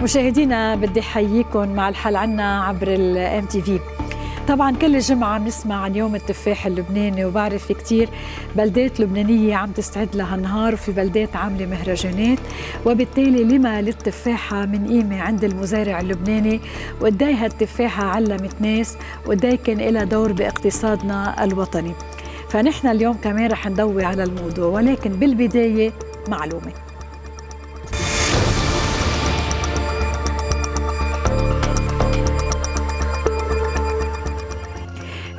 مشاهدينا بدي حييكم مع الحل عنا عبر الام تي في. طبعا كل جمعة بنسمع عن يوم التفاح اللبناني، وبعرف في كتير بلدات لبنانية عم تستعد لها نهار، وفي بلدات عاملة مهرجانات، وبالتالي لما للتفاحة من قيمة عند المزارع اللبناني، وقداي هالتفاحة علمت ناس، وقداي كان لها دور باقتصادنا الوطني. فنحن اليوم كمان رح نضوي على الموضوع، ولكن بالبداية معلومة.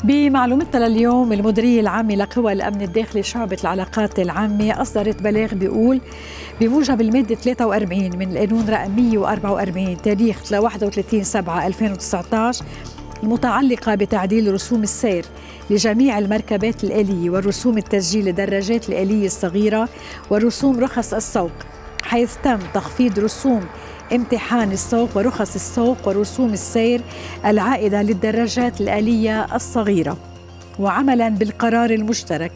بمعلومتنا لليوم، المديرية العامة لقوى الأمن الداخلي شعبة العلاقات العامة أصدرت بلاغ بيقول بموجب المادة 43 من القانون رقم 144 تاريخ 31/7/2019 المتعلقة بتعديل رسوم السير لجميع المركبات الآلية ورسوم التسجيل للدراجات الآلية الصغيرة ورسوم رخص السوق، حيث تم تخفيض رسوم امتحان السوق ورخص السوق ورسوم السير العائدة للدراجات الآلية الصغيرة، وعملاً بالقرار المشترك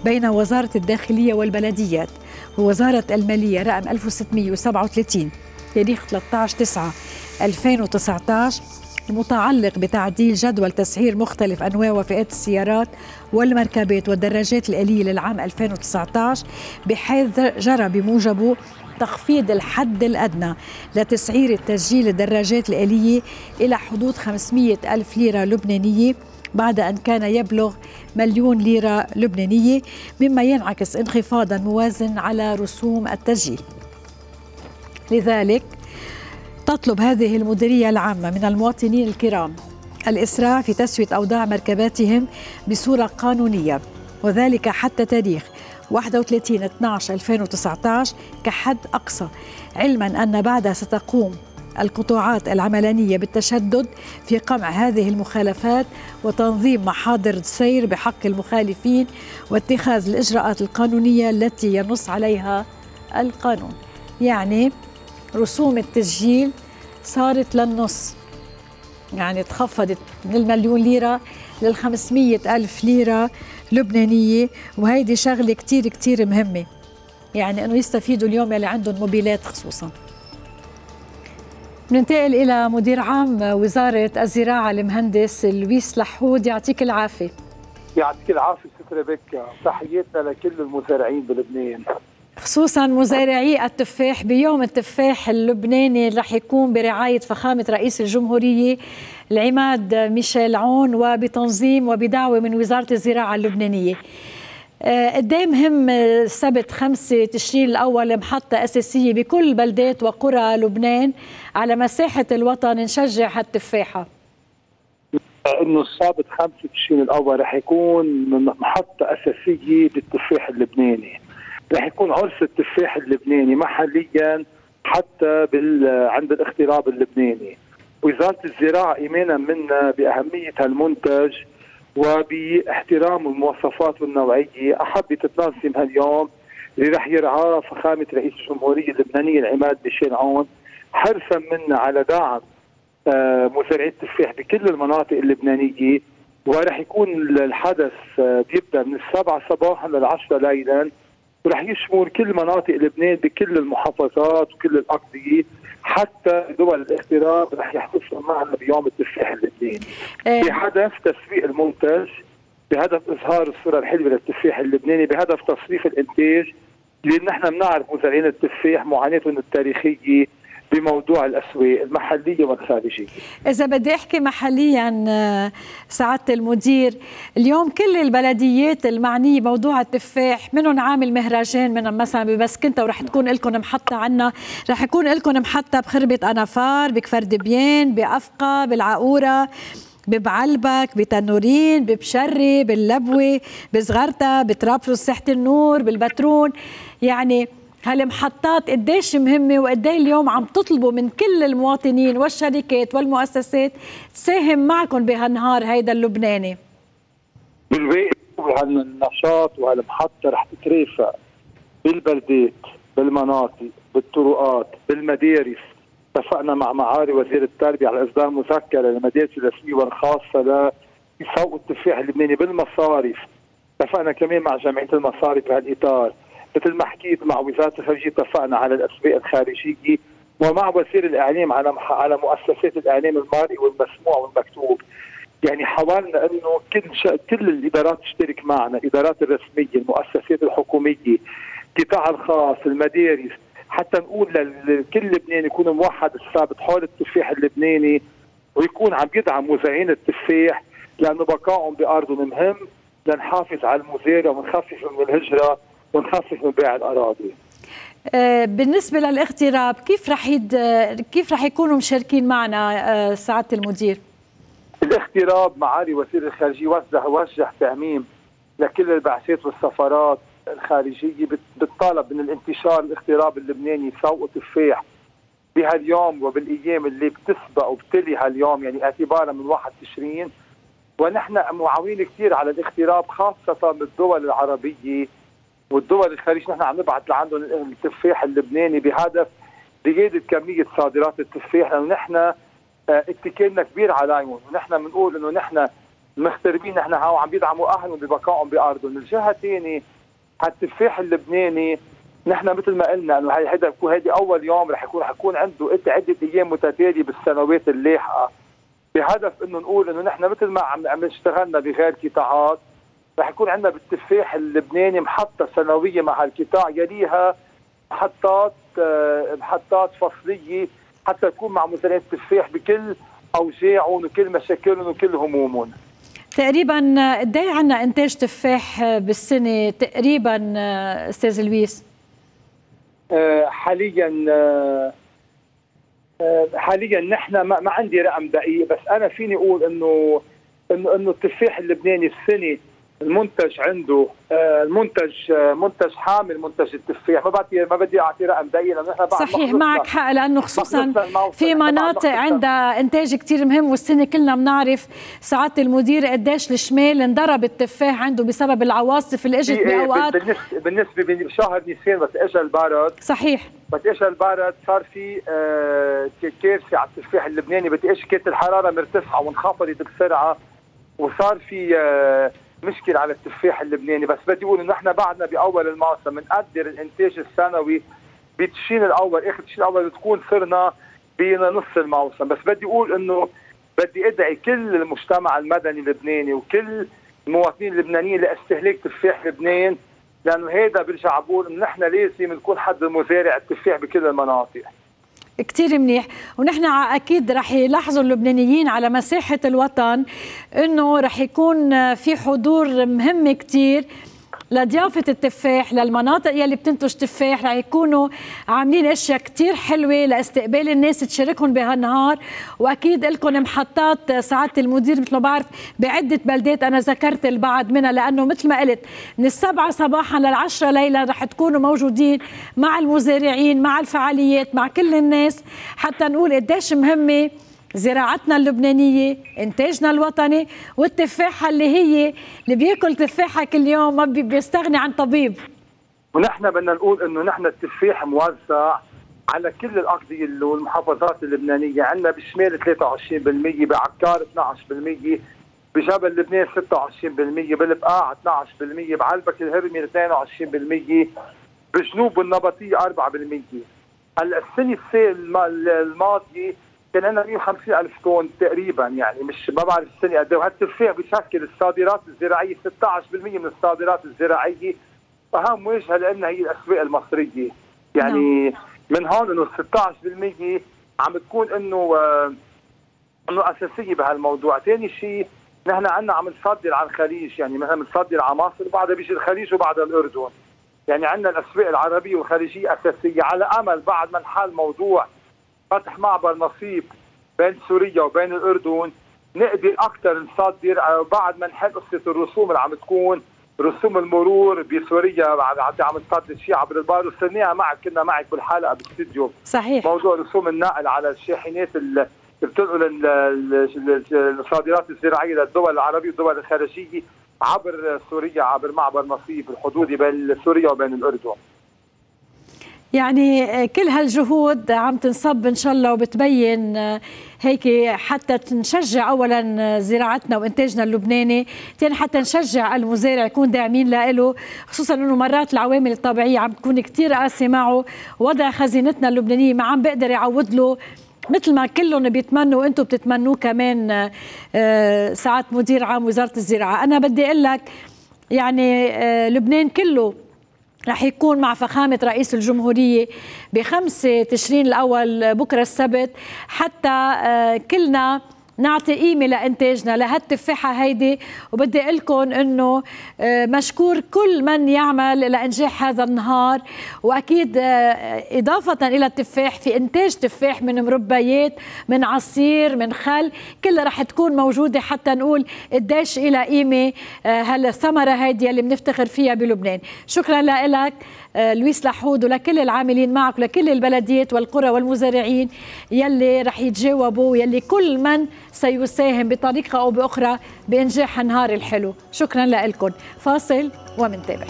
بين وزارة الداخلية والبلديات ووزارة المالية رقم 1637 تاريخ 13/9/2019 المتعلق بتعديل جدول تسعير مختلف أنواع وفئات السيارات والمركبات والدراجات الآلية للعام 2019، بحيث جرى بموجبه تخفيض الحد الأدنى لتسعير التسجيل الدراجات الآلية إلى حدود 500,000 ليرة لبنانية بعد أن كان يبلغ 1,000,000 ليرة لبنانية، مما ينعكس انخفاضا موازن على رسوم التسجيل. لذلك تطلب هذه المديرية العامة من المواطنين الكرام الإسراع في تسوية أوضاع مركباتهم بصورة قانونية، وذلك حتى تاريخ 31/12/2019 كحد أقصى، علما أن بعدها ستقوم القطاعات العملانية بالتشدد في قمع هذه المخالفات وتنظيم محاضر سير بحق المخالفين واتخاذ الإجراءات القانونية التي ينص عليها القانون. يعني رسوم التسجيل صارت للنص، يعني تخفضت من 1,000,000 ليرة لل500,000 ليرة لبنانية، وهيدي شغلة كتير كتير مهمة، يعني أنه يستفيدوا اليوم اللي عندهم موبيلات خصوصا. بننتقل إلى مدير عام وزارة الزراعة المهندس لويس لحود، يعطيك العافية. يعطيك العافية سترة بك، تحياتنا لكل المزارعين بلبنان، خصوصا مزارعي التفاح بيوم التفاح اللبناني اللي رح يكون برعاية فخامة رئيس الجمهورية العماد ميشيل عون وبتنظيم وبدعوة من وزارة الزراعة اللبنانية. قديه مهم سبت 5 تشرين الأول محطة أساسية بكل بلدات وقرى لبنان على مساحة الوطن نشجع هالتفاحة؟ إنه السبت 5 تشرين الأول رح يكون محطة أساسية بالتفاح اللبناني، رح يكون عرس التفاح اللبناني محليا حتى عند الاغتراب اللبناني. وزارة الزراعة إيمانا منا بأهمية هالمنتج وباحترام المواصفات والنوعية أحبت تنظم هاليوم اللي رح يرعاه فخامة رئيس الجمهورية اللبنانية العماد ميشيل عون، حرصا منا على دعم مزارعي التفاح بكل المناطق اللبنانية. ورح يكون الحدث بيبدأ من 7 صباحا لل10 ليلا، ورح يشمل كل مناطق لبنان بكل المحافظات وكل الأقضية، حتى دول الاغتراب رح يحتفلوا معنا بيوم التفاح اللبناني بهدف تسويق المنتج، بهدف إظهار الصورة الحلوة للتفاح اللبناني، بهدف تصريف الإنتاج، لأن نحن بنعرف مزارعين التفاح معاناتهم التاريخية بموضوع الأسواق المحلية والخارجية. إذا بدي أحكي محليا سعادة المدير، اليوم كل البلديات المعنية بموضوع التفاح منهم عامل مهرجان، منهم مثلا ببسكنتا ورح تكون لكم محطة عنا، رح يكون لكم محطة بخربة أنافار، بكفر دبيان، بأفقى، بالعقورة، ببعلبك، بتنورين، ببشري، باللبوة، بصغرتا، بطرابلس، ساحة النور، بالبترون. يعني هالمحطات قديش مهمة، وقديه اليوم عم تطلبوا من كل المواطنين والشركات والمؤسسات تساهم معكم بهالنهار هيدا اللبناني. بالواقع هالنشاط وهالمحطة رح تترافق بالبلدات، بالمناطق، بالطرقات، بالمدارس. اتفقنا مع معالي وزير التربية على إصدار مذكرة للمدارس الرسمية والخاصة لسوق التفاح اللبناني بالمصارف. اتفقنا كمان مع جمعية المصارف بهالإطار. مثل ما حكيت مع وزارة الخارجية اتفقنا على الأسواق الخارجية ومع وسير الاعلام على مؤسسات الاعلام المرئي والمسموع والمكتوب. يعني حاولنا انه كل الادارات تشترك معنا، الادارات الرسميه، المؤسسات الحكوميه، القطاع الخاص، المدارس، حتى نقول لكل لبنان يكون موحد الثابت حول التفاح اللبناني، ويكون عم يدعم مزارعين التفاح، لانه بقائهم بارضهم مهم لنحافظ على المزارع ونخفف من الهجره ونخفف من بيع الاراضي. بالنسبه للاغتراب كيف رح يكونوا مشاركين معنا سعاده المدير؟ الاغتراب معالي وزير الخارجيه وجه تعميم لكل البعثات والسفارات الخارجيه بالطلب من الانتشار الاغتراب اللبناني سوق تفاح بهاليوم وبالايام اللي بتسبق وبتلي هاليوم، يعني اعتبارا من 1 تشرين. ونحن معاونين كثير على الاغتراب خاصه بالدول العربيه والدول الخارجيه، نحن عم نبعث لعندهم التفاح اللبناني بهدف زياده كميه صادرات التفاح، لانه نحن اتكالنا كبير عليهم، ونحن بنقول انه نحن مغتربين، نحن عم بيدعموا اهلهم ببقائهم بارضهم. من الجهه الثانيه هالتفاح اللبناني نحن مثل ما قلنا انه هيدي اول يوم رح يكون عنده عده ايام متتاليه بالسنوات اللاحقه، بهدف انه نقول انه نحن مثل ما عم اشتغلنا بغير قطاعات رح يكون عندنا بالتفاح اللبناني محطه سنويه مع هالقطاع، يليها محطات فصليه حتى يكون مع مزارعين التفاح بكل اوجاعهم وكل مشاكلهم وكل همومهم. تقريبا قد ايه عندنا انتاج تفاح بالسنه تقريبا استاذ لويس؟ حاليا نحن ما عندي رقم دقيق، بس انا فيني اقول انه التفاح اللبناني السنه المنتج عنده منتج حامل منتج التفاح، ما بدي اعطي رقم دقيق لانه نحن بعد صحيح معك حق، لانه خصوصا في مناطق عندها انتاج كثير مهم، والسنه كلنا بنعرف سعاده المدير قديش الشمال انضرب التفاح عنده بسبب العواصف اللي اجت باوقات. بالنسبه بشهر نيسان بس اجى البرد، صحيح بس اجى البرد صار في كارثه على التفاح اللبناني، كانت الحراره مرتفعه وانخفضت بسرعه وصار في مشكلة على التفاح اللبناني. بس بدي اقول انه نحن بعدنا باول الموسم بنقدر الانتاج السنوي بتشين الاول، اخر تشين الاول بتكون صرنا بنص الموسم. بس بدي اقول انه بدي ادعي كل المجتمع المدني اللبناني وكل المواطنين اللبنانيين لاستهلاك تفاح لبنان، لانه هيدا برجع بقول انه نحن لازم نكون حد مزارع التفاح بكل المناطق. كتير منيح، ونحن أكيد رح يلاحظوا اللبنانيين على مساحة الوطن أنه رح يكون في حضور مهم كتير لضيافة التفاح للمناطق يلي بتنتج تفاح. رح يكونوا عاملين اشياء كتير حلوة لاستقبال الناس تشاركهم بهالنهار، واكيد لكم محطات سعادة المدير مثل ما بعرف بعدة بلدات، انا ذكرت البعض منها لانه مثل ما قلت من 7 صباحا ل10 ليلا رح تكونوا موجودين مع المزارعين مع الفعاليات مع كل الناس، حتى نقول قديش مهمة زراعتنا اللبنانية، إنتاجنا الوطني، والتفاحة اللي بياكل تفاحة كل يوم ما بيستغني عن طبيب. ونحن بدنا نقول إنه نحن التفاح موزع على كل الأقضية والمحافظات اللبنانية، عندنا بالشمال 23%، بعكار 12%، بجبل لبنان 26%، بالبقاع 12%، بعلبك الهرمي 22%، بالجنوب والنبطية 4%. هلا السنة الماضية كان عندنا 150,000 طن تقريبا، يعني مش ما بعرف السنه قد ايه، وهالتفاح بشكل الصادرات الزراعيه 16% من الصادرات الزراعيه، اهم وجهه لنا هي الاسواق المصريه. يعني من هون انه 16% عم تكون انه اساسيه بهالموضوع. ثاني شيء نحن عندنا عم نصدر على الخليج، يعني مثلا بنصدر على مصر وبعدها بيجي الخليج وبعدها الاردن، يعني عندنا الاسواق العربيه والخليجيه اساسيه، على امل بعد ما نحل موضوع فتح معبر نصيب بين سوريا وبين الأردن نقدر أكثر نصدر، بعد ما نحل قصة الرسوم اللي عم تكون رسوم المرور بسوريا عم نصدر شيء عبر البحر، وصرناها معك كنا معك بالحلقة بالاستديو. صحيح. موضوع رسوم النقل على الشاحنات اللي بتنقل الصادرات الزراعية للدول العربية والدول الخارجية عبر سوريا عبر معبر نصيب الحدودي بين سوريا وبين الأردن. يعني كل هالجهود عم تنصب إن شاء الله وبتبين هيك حتى نشجع أولا زراعتنا وإنتاجنا اللبناني، ثاني حتى نشجع المزارع يكون داعمين له، خصوصا أنه مرات العوامل الطبيعية عم تكون كتير قاسية معه، وضع خزينتنا اللبنانية ما عم بقدر يعوض له مثل ما كلهم بيتمنوا وانتم بتتمنوه كمان ساعات مدير عام وزارة الزراعة. أنا بدي أقول لك يعني لبنان كله رح يكون مع فخامة رئيس الجمهورية ب5 تشرين الأول بكرة السبت، حتى كلنا نعطي قيمة لإنتاجنا لهالتفاحة هيدي. وبدي أقول لكم إنه مشكور كل من يعمل لإنجاح هذا النهار، وأكيد إضافة إلى التفاح في إنتاج تفاح من مربيات من عصير من خل، كلها رح تكون موجودة حتى نقول قديش إلى قيمة هالثمرة هيدي اللي بنفتخر فيها بلبنان. شكرا لك لويس لحود ولكل العاملين معك ولكل البلديات والقرى والمزارعين يلي رح يتجاوبوا يلي كل من سيساهم بطريقة أو بأخرى بإنجاح النهار الحلو. شكرا لكم. فاصل ومنتابع.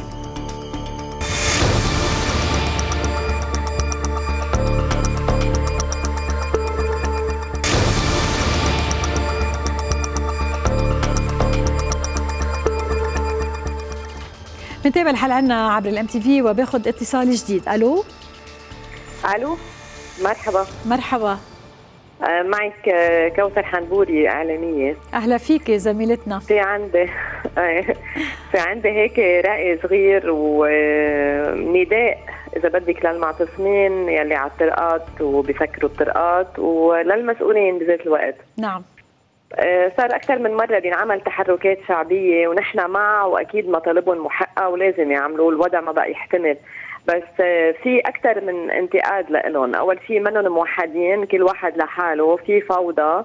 منتابع الحلقة عنا عبر الام تي في وباخذ اتصال جديد. الو مرحبا. مرحبا. معك كوثر حنبوري إعلامية. أهلا فيك زميلتنا. في عندي هيك رأي صغير ونداء إذا بدك للمعتصمين يلي على الطرقات وبيسكروا الطرقات وللمسؤولين بذات الوقت. نعم. صار أكثر من مرة بينعمل تحركات شعبية ونحن مع، وأكيد مطالبهم محققة ولازم يعملوا، الوضع ما بقى يحتمل، بس في أكثر من انتقاد لهم. أول شيء منهم موحدين، كل واحد لحاله، في فوضى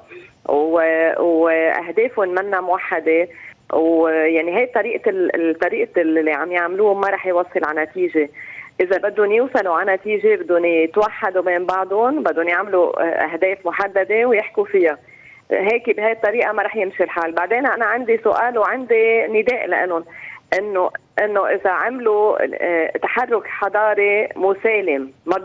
وأهدافهم منا موحدة، ويعني هي الطريقة اللي عم يعملوه ما رح يوصل على نتيجة. إذا بدهم يوصلوا على نتيجة بدهم يتوحدوا بين بعضهم، بدهم يعملوا أهداف محددة ويحكوا فيها. هيك بهي الطريقة ما رح يمشي الحال. بعدين أنا عندي سؤال وعندي نداء لهم، إنه إذا عملوا تحرك حضاري مسالم ما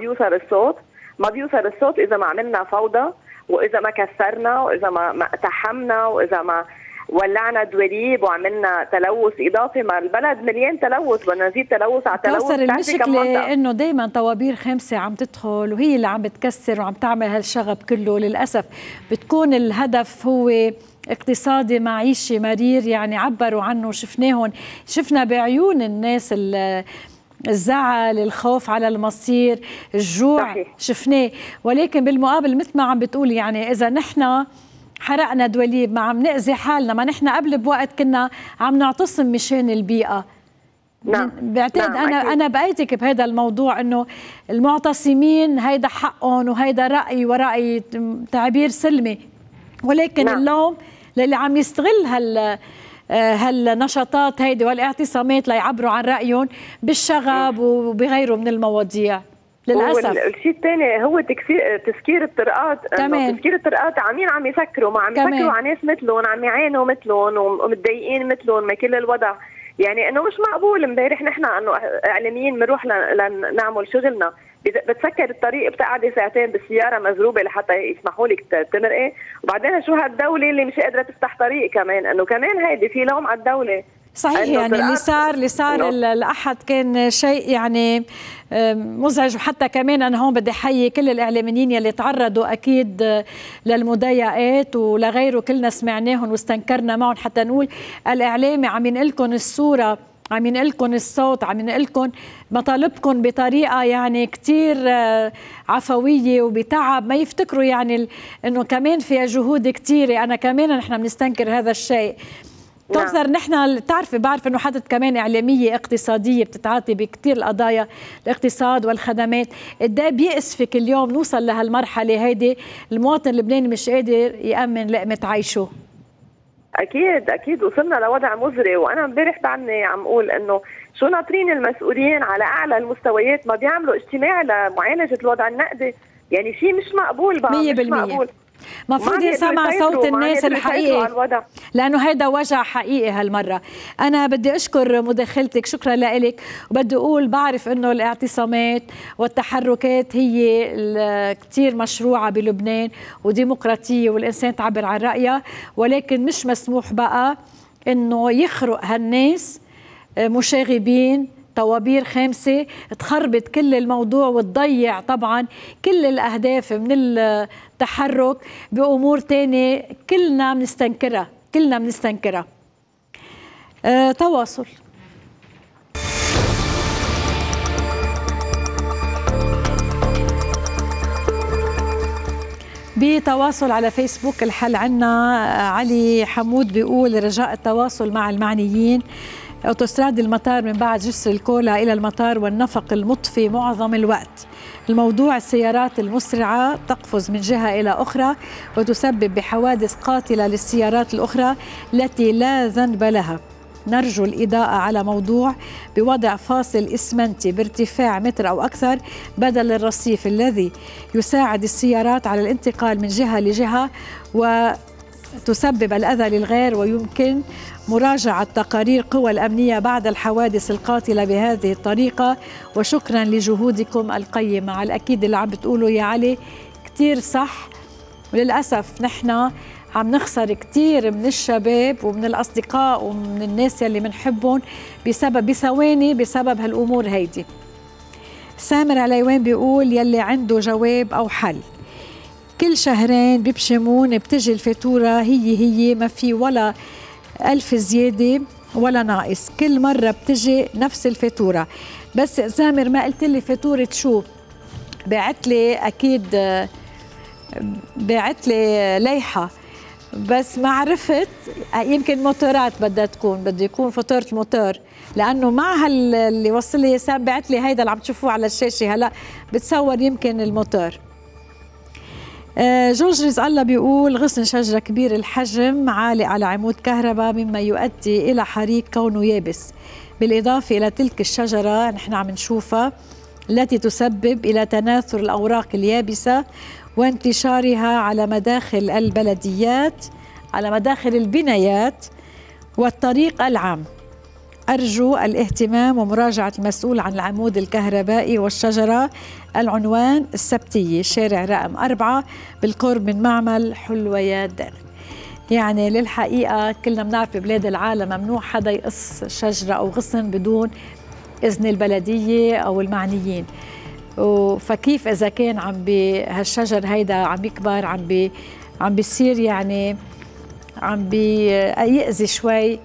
بيوصل الصوت إذا ما عملنا فوضى، وإذا ما كسرنا، وإذا ما اقتحمنا، وإذا ما ولعنا دواليب وعملنا تلوث إضافي. ما البلد مليان تلوث، بدنا نزيد تلوث على تلوث. المشكلة إنه دايما طوابير خامسة عم تدخل وهي اللي عم بتكسر وعم تعمل هالشغب كله. للأسف بتكون الهدف هو اقتصادي معيشي مرير، يعني عبروا عنه، شفنا بعيون الناس الزعل، الخوف على المصير، الجوع. صحيح. شفناه. ولكن بالمقابل مثل ما عم بتقول، يعني إذا نحن حرقنا دواليب ما عم نأذي حالنا، ما نحن قبل بوقت كنا عم نعتصم مشان البيئة. نعم. بعتقد أنا بأيدك بهذا الموضوع، إنه المعتصمين هيدا حقهم وهيدا رأي ورأي تعبير سلمي، ولكن نعم. اللوم للي عم يستغل هالنشاطات هيدي والاعتصامات ليعبروا عن رأيهم بالشغب وبغيره من المواضيع. للأسف. الشيء الثاني هو تسكير الطرقات. تسكير الطرقات عم يسكروا، ما عم يسكروا على ناس مثلهم، عم يعانوا مثلهم ومتضايقين مثلهم ما كل الوضع. يعني انه مش معقول. امبارح نحن انه اعلاميين بنروح لنعمل شغلنا، بتسكر الطريق، بتقعدي ساعتين بالسياره مزروبه لحتى يسمحوا لك تمرقي، وبعدين شو هالدوله اللي مش قادره تفتح طريق كمان. انه كمان هيدي في لوم على الدوله. صحيح. يعني اللي صار الأحد كان شيء يعني مزعج. وحتى كمان أنا هون بدي أحيي كل الإعلاميين يلي تعرضوا أكيد للمضايقات ولغيره، كلنا سمعناهم واستنكرنا معهم حتى نقول الإعلامي عم ينقلكم الصورة، عم ينقلكم الصوت، عم ينقلكم مطالبكم بطريقة يعني كتير عفوية وبتعب، ما يفتكروا يعني إنه كمان فيها جهود كتيرة. أنا كمان نحن بنستنكر هذا الشيء. كوثر، نحن بعرف انه حضرتك كمان اعلاميه اقتصاديه بتتعاطي بكثير القضايا الاقتصاد والخدمات، قد ايه بيأسفك اليوم نوصل لهالمرحله هيدي، المواطن اللبناني مش قادر يأمن لقمه عيشه؟ اكيد وصلنا لوضع مزري. وانا امبارح بعدني عم اقول انه شو ناطرين المسؤولين على اعلى المستويات ما بيعملوا اجتماع لمعالجه الوضع النقدي. يعني شيء مش مقبول بقى. 100%. مش مقبول. مفروض يسمع صوت الناس الحقيقي، لأنه هيدا وجع حقيقي هالمرة. أنا بدي أشكر مداخلتك، شكرا لك، وبدي أقول بعرف أنه الاعتصامات والتحركات هي كتير مشروعة بلبنان وديمقراطية والإنسان تعبر عن رأيه، ولكن مش مسموح بقى أنه يخرق هالناس مشاغبين طوابير خامسة تخربط كل الموضوع وتضيع طبعا كل الأهداف من التحرك بأمور تانية كلنا بنستنكرها. تواصل. بتواصل على فيسبوك الحل عنا علي حمود بيقول رجاء التواصل مع المعنيين. أوتوستراد المطار من بعد جسر الكولا إلى المطار والنفق المطفي معظم الوقت. الموضوع السيارات المسرعة تقفز من جهة إلى أخرى وتسبب بحوادث قاتلة للسيارات الأخرى التي لا ذنب لها. نرجو الإضاءة على موضوع بوضع فاصل إسمنتي بارتفاع متر أو أكثر بدل الرصيف الذي يساعد السيارات على الانتقال من جهة لجهة وتسبب الأذى للغير، ويمكن مراجعة تقارير قوى الأمنية بعد الحوادث القاتلة بهذه الطريقة. وشكرا لجهودكم القيمة. على الأكيد اللي عم بتقولوا يا علي كتير صح، وللأسف نحن عم نخسر كتير من الشباب ومن الأصدقاء ومن الناس يلي منحبهم بثواني بسبب هالأمور هيدي. سامر عليوان بيقول يلي عنده جواب أو حل. كل شهرين بيبشمون بتجي الفاتورة هي ما في ولا 1000 زيادة ولا ناقص، كل مرة بتجي نفس الفاتورة. بس سامر ما قلت لي فاتورة شو؟ بعت لي أكيد بعت لي ليحة، بس ما عرفت، يمكن موتورات بدها تكون، بده يكون فاتورة الموتور، لأنه مع اللي وصل لي سام بعت لي هيدا اللي عم تشوفوه على الشاشة هلا بتصور يمكن الموتور. جورج رزق الله بيقول غصن شجرة كبير الحجم عالق على عمود كهرباء مما يؤدي إلى حريق كونه يابس، بالإضافة إلى تلك الشجرة نحن عم نشوفها التي تسبب إلى تناثر الأوراق اليابسة وانتشارها على مداخل البلديات، على مداخل البنايات والطريق العام. أرجو الاهتمام ومراجعة المسؤول عن العمود الكهربائي والشجرة. العنوان السبتية، شارع رقم 4 بالقرب من معمل حلويات داغ. يعني للحقيقة كلنا بنعرف ببلاد العالم ممنوع حدا يقص شجرة أو غصن بدون إذن البلدية أو المعنيين. فكيف إذا كان عم بهالشجر هيدا عم يكبر عم بيصير يعني عم بيأذي شوي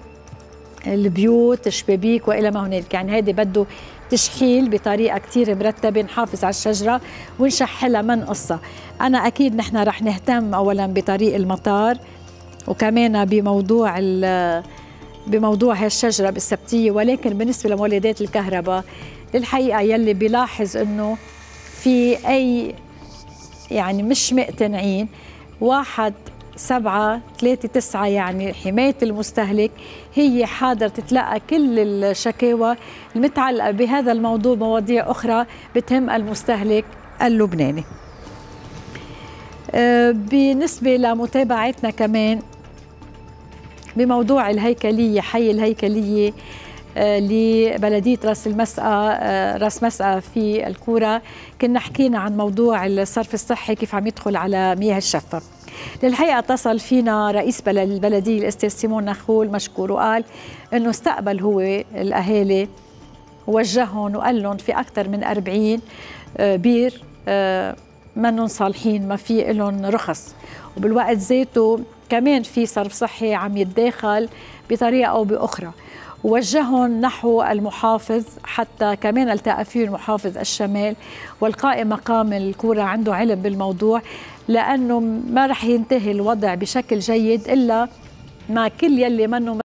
البيوت الشبابيك وإلى ما هنالك. يعني هيدا بده تشحيل بطريقة كتير مرتبة، نحافظ على الشجرة ونشحلها ما نقصها. أنا أكيد نحن رح نهتم أولا بطريق المطار وكمان بموضوع هالشجرة بالسبتية، ولكن بالنسبة لمولدات الكهرباء للحقيقة يلي بيلاحظ إنه في أي يعني مش مقتنعين 1739 يعني حماية المستهلك هي حاضر تتلقى كل الشكاوى المتعلقة بهذا الموضوع، مواضيع أخرى بتهم المستهلك اللبناني. بالنسبة لمتابعتنا كمان بموضوع الهيكلية، حي الهيكلية لبلدية راس مسقى في الكورة، كنا حكينا عن موضوع الصرف الصحي كيف عم يدخل على مياه الشفة. للحقيقة اتصل فينا رئيس البلدية الأستاذ سيمون نخول مشكور، وقال انه استقبل هو الاهالي ووجههم وقال لهم في اكثر من 40 بير منهم صالحين، ما في لهم رخص، وبالوقت ذاته كمان في صرف صحي عم يتداخل بطريقة او باخرى. ووجههم نحو المحافظ حتى كمان التقى فيه المحافظ الشمال والقائم مقام الكورة عنده علم بالموضوع، لأنه ما رح ينتهي الوضع بشكل جيد إلا مع كل يلي منه